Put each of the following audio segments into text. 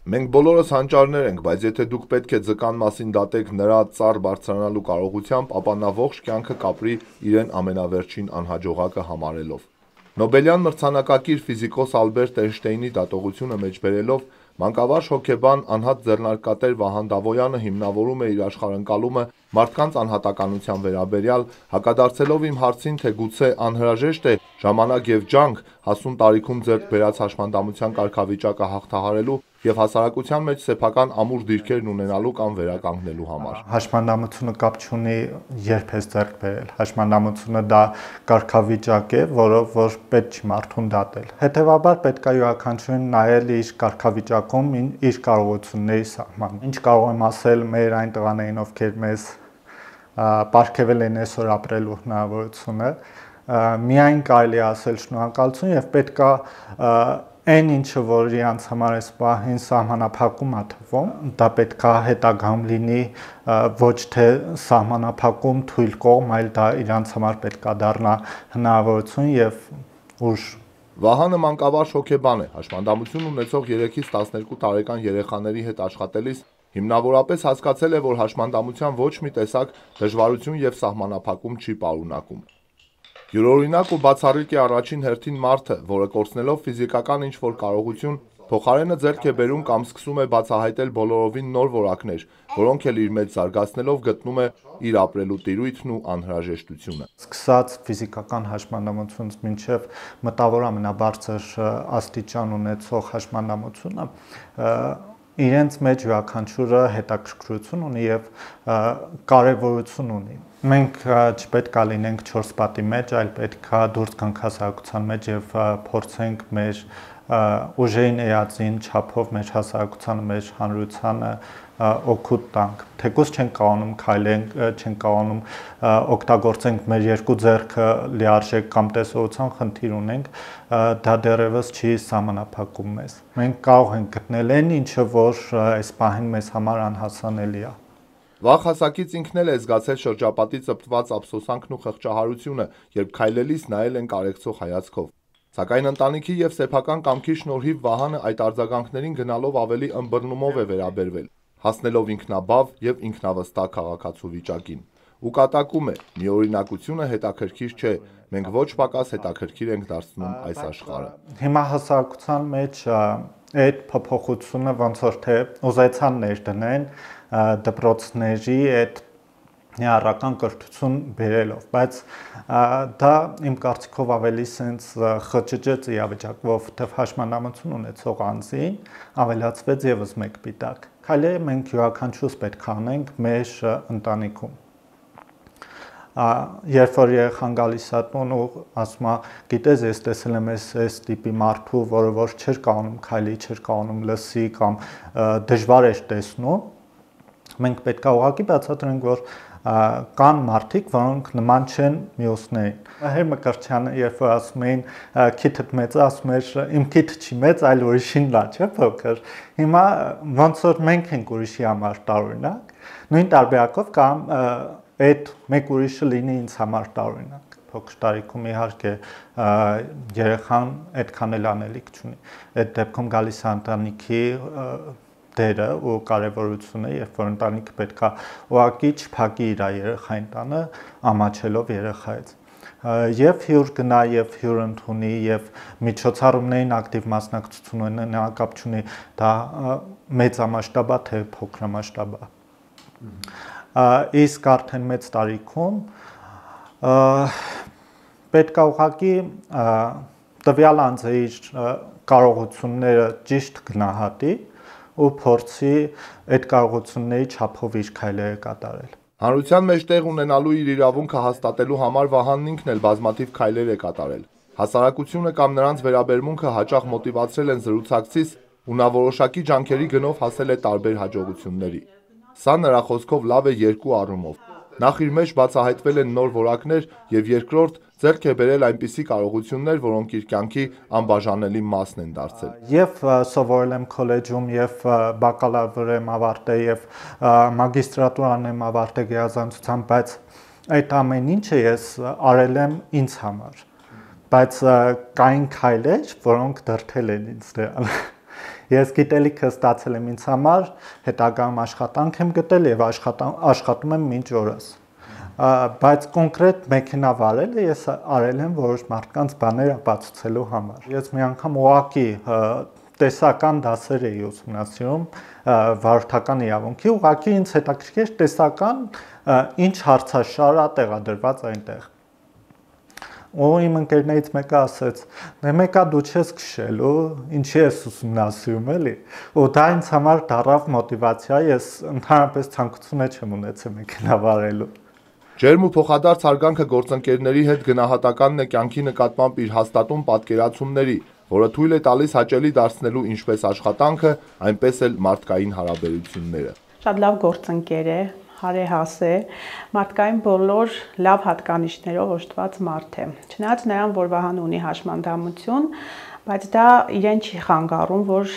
Մենք բոլորս հանճարներ ենք, բայց եթե դուք պետք է ձկան մասին դատեք նրա ծառ բարձրանալու կարողությամբ, ապա նա ողջ կյանքը կապրի իրեն ամենավերջին անհաջողակը համարելով։ Նոբելյան մրցանակակիր ֆիզիկոս Ալբերտ Էյնշտեյնի դատողությունը մեջբերելով մանկավարժ հոգեբան անհատ ձեռնարկատեր Վահան Դավոյանը հիմնավորում է իր աշխարհընկալումը մարդկանց անհատականության վերաբերյալ, հակադարձելով իմ հարցին, թե գուցե անհրաժեշտ է ժամանակ և ջանք հասուն տարիքում ձեռք բերած հաշմանդամության կարգավիճակը հաղթահարելու և հասարակության մեջ սեփական ամուր դիրքերն ունենալու կամ վերականգնելու համար։ Հաշմանդամությունը կապ չունի երբ ես ձեռք բերել։ Հաշմանդամությունը դա կարգավիճակ է, որով որ պետք չի մարդուն դատել։ Հետևաբար պետք է յուրաքանչյուրին նայել իր կարգավիճակում իր կարողությունների սահմանը։ Ինչ կարող եմ ասել մեր այն տղաներին, ովքեր մեզ պարգևել են այսօր ապրելու հնարավորությունը, միայն կարելի է ասել շնորհակալություն եւ պետք է այն ինչը որ իրանց համար այս պահին սահմանափակում է թվում, դա պետք է հետագայում լինի ոչ թե սահմանափակում թույլ կողմ, այլ դա իրանց համար պետք է դառնա հնարավորություն եւ ուժ։ Վահանը մանկավարժ հոգեբան է, հաշմանդամություն ունեցող 3-ից 12 տարեկան երեխաների հետ աշխատելիս հիմնավորապես հասկացել է, որ հաշմանդամության ոչ մի տեսակ դժվարություն եւ սահմանափակում չի պարունակում։ Յուրօրինակ ու բացառիկ է առաջին հերթին մարդը, որը կորցնելով ֆիզիկական ինչ-որ կարողություն, փոխարենը ձեռք է բերում կամ սկսում է բացահայտել բոլորովին նոր որակներ, որոնք էլ իր մեջ զարգացնելով գտնում է իր ապրելու տիրույթն ու անհրաժեշտությունը։ Սկսած ֆիզիկական հաշմանդամությունից մինչև մտավոր ամենաբարձր աստիճան ունեցող հաշմանդամությունը իրենց մեջ յուրաքանչյուրը հետաքրքրություն ունի եւ կարեւորություն ունի։ Մենք չպետք է լինենք 4 պատի մեջ, այլ պետք է դուրս գանք հասարակության մեջ եւ փորձենք մեր ուժերին էածին չափով մեր հասարակությանը, մեր հանրությանը օգուտ տանք։ Թեկուզ չենք կարողանում քայլենք, չենք կարողանում օգտագործենք մեր երկու ձեռքը լիարժեք կամ տեսողության խնդիր ունենք, դա դեռևս չի սահմանափակում մեզ։ Մենք կարող ենք գտնել այն ինչը, որ այս պահին մեզ համար անհասանելի է։ Վաղ հասակից ինքն էլ է զգացել շրջապատի ծպտված ափսոսանքն ու խղճահարությունը, երբ քայլելիս նայել են կարեկցող հայացքով։ Սակայն ընտանիքի եւ սեփական կամքի շնորհիվ Վահանը այդ արձագանքներին գնալով ավելի ըմբռնումով է վերաբերվել, հասնելով ինքնաբավ եւ ինքնավստահ քաղաքացու վիճակին։ Ու կատակում է՝ միօրինակությունը հետաքրքիր չէ, մենք ոչ պակաս հետաքրքիր ենք դարձնում այս աշխարհը։ Հիմա հասարակության մեջ այդ փոփոխությունը ոնց որ թե ուզեցան ներդնեն դպրոցների այդ ներառական կրթություն բերելով, բայց դա իմ կարծիքով ավելի սենց խճճեց իրավիճակը, որովհետև հաշմանդամություն ունեցող անձին ավելացվեց եւս մեկ պիտակ։ Քայլերը մենք յուրաքանչյուրս պետք է անենք մեր ընտանիքում։ Երբ որ երեխան գալիս է տուն ու ասում է, գիտես, ես տեսել եմ այս տիպի մարդու, որը որ չէր կարողանում քայլի, չէր կարողանում լսի կամ դժվար էր տեսնում, մենք պետք է ուղղակի բացատրենք, որ կան մարդիկ, որոնք նման չեն մյուսներին։ Մհեր Մկրտչյանը, երբ որ ասում էին քիթդ մեծ է, ասում էր իմ քիթը չի մեծ, այլ ուրիշին լա, չէ՞ փոքր։ Հիմա ոնց որ մենք ենք ուրիշի համար տարօրինակ, նույն տարբերակով կամ այդ մեկ ուրիշը լինի ինձ համար տարօրինակ։ Փոքր տարիքում իհարկե երեխան այդքան էլ անելիք չունի։ Այդ դեպքում գալիս է ընտանիքի դերը ու կարևորությունը, երբ որ ընտանիքը պետք է ուղղակի չփակի իր երեխային տանը, ամաչելով երեխայից։ Եվ հյուր գնա, եւ հյուր ընդունի, եւ միջոցառումներին ակտիվ մասնակցություն ունենա, կապ չունի դա մեծամասշտաբ է թե փոքրամասշտաբ է։ Իսկ արդեն մեծ տարիքում պետք է ուղղակի տվյալ անձը իր կարողությունները ճիշտ գնահատի ու փորձի այդ կարողությունների չափով իր քայլերը կատարել։ Հանրության մեջ տեղ ունենալու իր իրավունքը հաստատելու համար Վահանն ինքն էլ բազմաթիվ քայլեր է կատարել։ Հասարակությունը կամ նրանց վերաբերմունքը հաճախ մոտիվացրել են զրուցակցից ու նա որոշակի ջանքերի գնով հասել է տարբեր հաջողությունների։ Սա նրա խոսքով լավ է երկու առումով։ Նախ իր մեջ բացահայտվել են նոր որակներ եւ երկրորդ ձեռք է բերել այնպիսի կարողություններ, որոնք իր կյանքի անբաժանելի մասն են դարձել։ Եվ սովորել եմ քոլեջում, եւ բակալավր եմ ավարտել, եւ մագիստրատուրան եմ ավարտել գերազանցությամբ, բայց այդ ամեն ինչը ես արել եմ ինձ համար։ Բայց կային քայլեր, որոնք դրդել են ինձ դրան։ Ես գիտելիքը ստացել եմ ինձ համար, հետագայում աշխատանք եմ գտել եւ աշխատում եմ մինչ օրս։ Բայց կոնկրետ մեքենա վարելը ես արել եմ որոշ մարդկանց բաներ ապացուցելու համար։ Ես մի անգամ ուղակի տեսական դասեր էի ուսումնասիրում վարորդական իրավունքի, ուղղակի ինձ հետաքրքիր տեսական ինչ հարցաշար է տեղադրված այնտեղ։ Ու իմ ընկերներից մեկը ասեց. «Դե մեկա դու չես քշելու, ինչի ես ուսումնասիրում էլի»։ Ու դա ինձ համար դառավ մոտիվացիա, ես ընդհանրապես ցանկություն չեմ ունեցել մեքենա վարելու։ Ջերմ ու փոխադարձ հարգանքը գործընկերների հետ գնահատականն է կյանքի նկատմամբ իր հաստատուն պատկերացումների, որը թույլ է տալիս հաճելի դարձնելու ինչպես աշխատանքը, այնպես էլ մարդկային հարաբերությունները։ Շատ լավ գործընկեր է, հարեհաս է, մարդկային բոլոր լավ հատկանիշներով օժտված մարդ է։ Չնայած նրան, որ Վահանը ունի հաշմանդամություն, բայց դա իրեն չի խանգարում, որ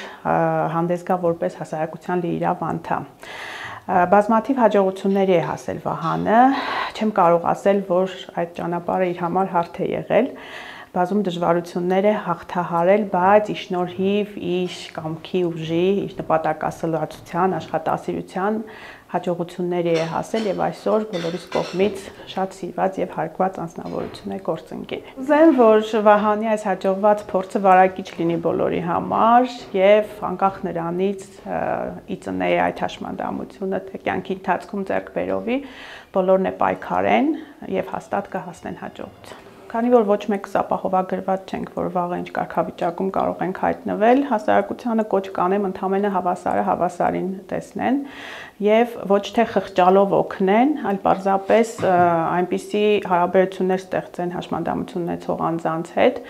հանդես գա որպես հասարակության լիիրավ անդամ։ Բազմաթիվ հաջողությունների է հասել Վահանը, չեմ կարող ասել, որ այդ ճանապարհը իր համար հարթ է եղել, բազում դժվարություններ է հաղթահարել, բայց ի շնորհիվ իր կամքի ուժի, իր նպատակասլացության, աշխատասիրության հաջողությունների է հասել եւ այսօր բոլորիս կողմից շատ սիրված եւ հարգված անձնավորություն է գործընկեր։ Ուզեմ, որ Վահանի այս հաջողված փորձը վարակիչ լինի բոլորի համար եւ անկախ նրանից ի ծնե այդ հաշմանդամությունը թե կյանքի ընթացքում ձեռք բերովի բոլորն է պայքարեն եւ հաստատ կհասնեն հաջողության։ Քանի որ ոչ մեկս ապահովագրված չենք, որ վաղը ինչ կարգավիճակում կարող ենք հայտնվել, հասարակությանը կոչ կանեմ ընդամենը հավասարը հավասարին տեսնեն եւ ոչ թե խղճալով օգնեն, այլ պարզապես այնպիսի հարաբերություններ ստեղծեն հաշմանդամություն ունեցող անձանց հետ,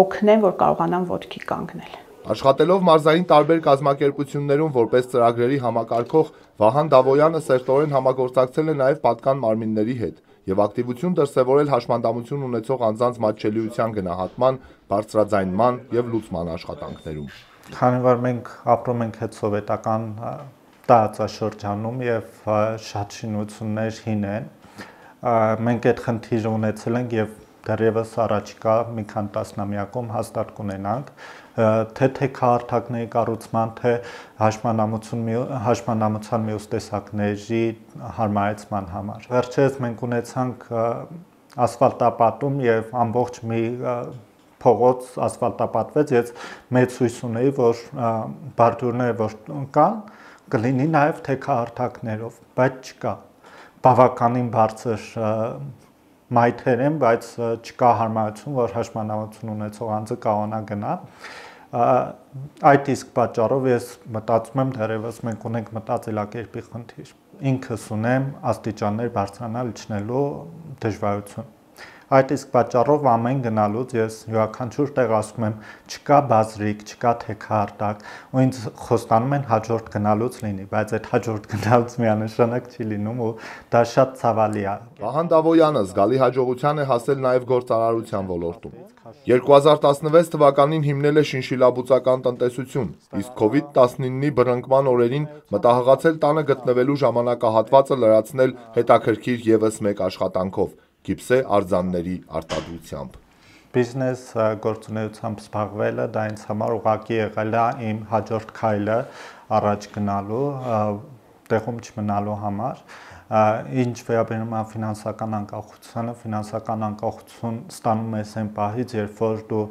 օգնեն, որ կարողանան ոտքի կանգնել։ Աշխատելով մարզային տարբեր կազմակերպություններում որպես ծրագրերի համակարգող, Վահան Դավոյանը սերտորեն համագործակցել է նաև պատկան մարմինների հետ եւ ակտիվություն դրսեւորել հաշմանդամություն ունեցող անձանց մատչելիության գնահատման, բարձրաձայնման եւ լուծման աշխատանքներում։ Քանի որ մենք ապրում ենք հետ սովետական տարածաշրջանում եւ շատ շինություններ հին են, մենք այդ խնդիրը ունեցել ենք եւ դեռևս առաջիկա մի քանի տասնամյակում հաստատ կունենանք, թե թեքահարթակների կառուցման, թե հաշմանդամության մյուս տեսակների հարմարեցման համար։ Վերջերս մենք ունեցանք ասֆալտապատում եւ ամբողջ մի փողոց ասֆալտապատվեց, ես մեծ հույս ունեի, որ բարդյուրները որ կան, կլինի նաեւ թեքահարթակներով, բայց չկա։ Բավականին բարձր մայթեր են, բայց չկա հարմարություն, որ հաշմանդամություն ունեցող անձը կարողանա գնա։ Այդ իսկ պատճառով ես մտածում եմ դեռևս մենք ունենք մտածելակերպի խնդիր։ Ինքս ունեմ աստիճաններ բարձրանալ իջնելու դժվարություն։ Այդ իսկ պատճառով ամեն գնալուց ես յուրաքանչյուր տեղ ասում եմ չկա բազրիկ, չկա թեքահարթակ, ու ինձ խոստանում են հաջորդ գնալուց լինի, բայց այդ հաջորդ գնալուց միանշանակ չի լինում ու դա շատ ցավալի է։ Վահան Դավոյանը զգալի հաջողության է հասել նաև գործարարության ոլորտում։ 2016 թվականին հիմնել է շինշիլաբուծական տնտեսություն, իսկ COVID-19-ի բռնկման օրերին մտահղացել տանը գտնվելու ժամանակահատվածը լրացնել հետաքրքիր ևս մեկ աշխատանքով՝ գիպսե արձանների արտադրությամբ։ Բիզնես գործունեությամբ զբաղվելը դա ինձ համար ուղղակի եղել է իմ հաջորդ քայլը առաջ գնալու, տեղում չմնալու համար։ Ինչ վերաբերում է ֆինանսական անկախությանը, ֆինանսական անկախություն ստանում ես այն պահից, երբ որ դու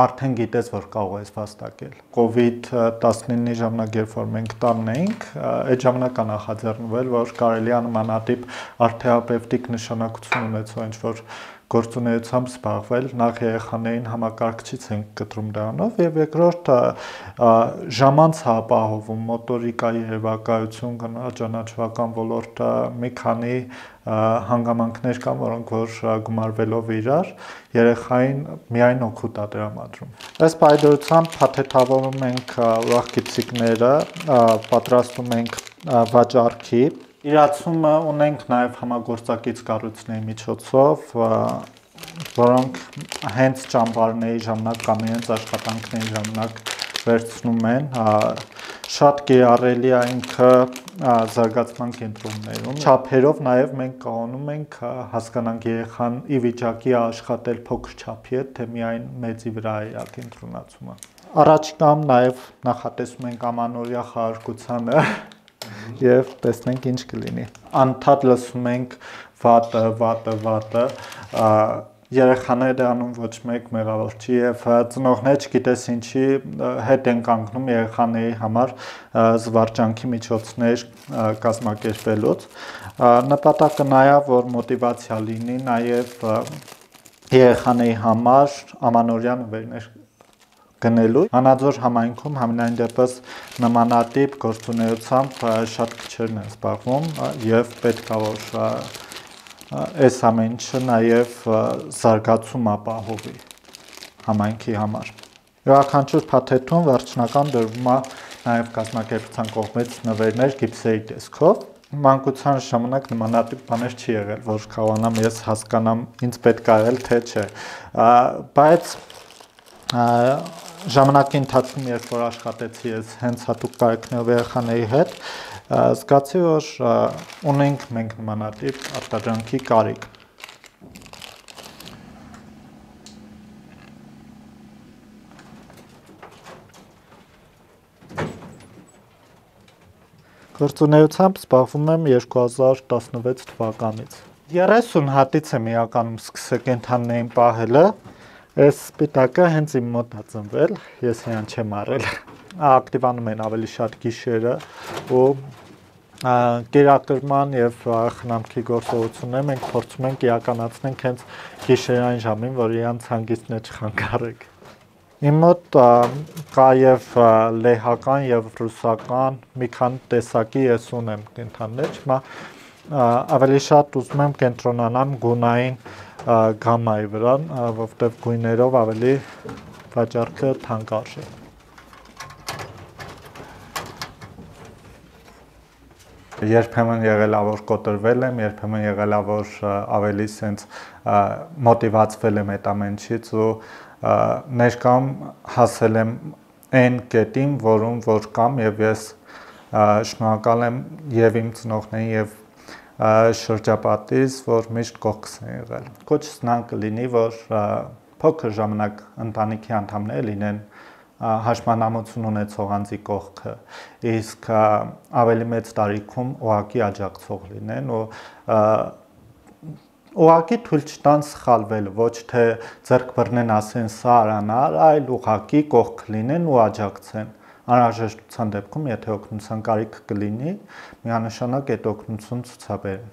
արդեն գիտես, որ կարող ես վաստակել։ COVID-19-ի ժամանակ, երբ որ մենք տանն էինք, այդ ժամանակ նախաձեռնվել, որ կարելի է նմանատիպ արթերապևտիկ նշանակություն ունեցող ինչ-որ գործունեությամբ զբաղվել, նախ երեխաներին համակարգչից ենք կտրում դրանով եւ երկրորդ ժամանց ապահովում մոտորիկայի երևակայություն ճանաչողական ոլորտը մի քանի հանգամանքներ կան, որոնք որ գումարվելով իրար երեխային միայն օգուտ է տրամադրում։ Այս պայմանությամբ փաթեթավորում ենք ուրախ գիպսիկները, պատրաստում ենք վաճառքի իրացումը ունենք նաև համագործակից կառույցների միջոցով, որոնք հենց ճամբարների ժամանակ կամ իրենց աշխատանքների ժամանակ վերցնում են, շատ կիրառելի է ինքը զարգացման կենտրոններում։ Չափերով նաև մենք կարողանում ենք հասկանանք երեխան ի վիճակի է աշխատել փոքր չափի հետ, թե միայն մեծի վրա է կենտրոնացումը։ Առաջիկայում նաև նախատեսում ենք ամանորյա խաղարկությանը եւ տեսնենք ինչ կլինի։ Անդադ լսում ենք վատը, երեխաները դառնում ոչ մեկ մեղավոր չի եւ ծնողները չգիտես ինչի հետ են կանգնում երեխաների համար զվարճանքի միջոցներ կազմակերպելուց։ Նպատակը նա է, որ մոտիվացիա լինի նաեւ երեխաների համար ամանորյա նվերներ գնելու։ Հանաձոր համայնքում համենայն դեպս նմանատիպ գործունեությամբ շատ քչերն են զբաղվում եւ պետք է որ այս ամեն ինչը նաև զարգացում ապահովի համայնքի համար։ Յուրաքանչյուր փաթեթում վերջնական դրվում է նաև կազմակերպության կողմից նվերներ գիպսերի տեսքով։ Մանկության ժամանակ նմանատիպ բաներ չի եղել, որ կարողանամ ես հասկանամ ինձ պետք է եղել թե չէ։ Բայց ժամանակի ընթացքում երբ որ աշխատեցի ես հենց հատուկ կարիքներով երեխաների հետ, զգացի, որ ունենք մենք նմանատիպ արտադրանքի կարիք։ Գործունեությամբ զբաղվում եմ 2016 թվականից։ 30 հատից եմ իրականում սկսել կենդանիներին պահելը, այս սպիտակը հենց իմ մոտ է ծնվել, ես իրան չեմ առել։ Ակտիվանում են ավելի շատ գիշերը ու կերակրման եւ խնամքի գործողությունները մենք փորձում ենք իրականացնենք հենց գիշերային ժամին, որ իրանց հանգիստն չխանգարենք։ Իմ մոտ կա եւ լեհական եւ ռուսական մի քանի տեսակի ես ունեմ կենդանիներ, հիմա ավելի շատ ուզում եմ կենտրոնանամ գունային գամայի վրա, որովհետեւ գույներով ավելի վաճառքը թանկարժ է։ Երբեմն եղել է որ կոտրվել եմ, երբեմն եղել է որ ավելի սենց մոտիվացվել եմ այդ ամենից ու ներկայում հասել եմ այն կետին, որում որ կամ եւ ես շնորհակալ եմ եւ իմ ծնողներին եւ շրջապատից, որ միշտ կողքս են եղել։ Կոչս նան կլինի, որ փոքր ժամանակ ընտանիքի անդամները լինեն հաշմանամություն ունեցող անձի կողքը, իսկ ավելի մեծ տարիքում ուղակի աջակցող լինեն ու ուղակի թույլ չտան սխալվել, ոչ թե ձեռք բռնեն ասեն սա արանար, այլ ուղակի կողք լինեն ու աջակցեն։ Անհրաժեշտության դեպքում, եթե օգնության կարիք կլինի, միանշանակ այդ օգնություն ցուցաբերեն։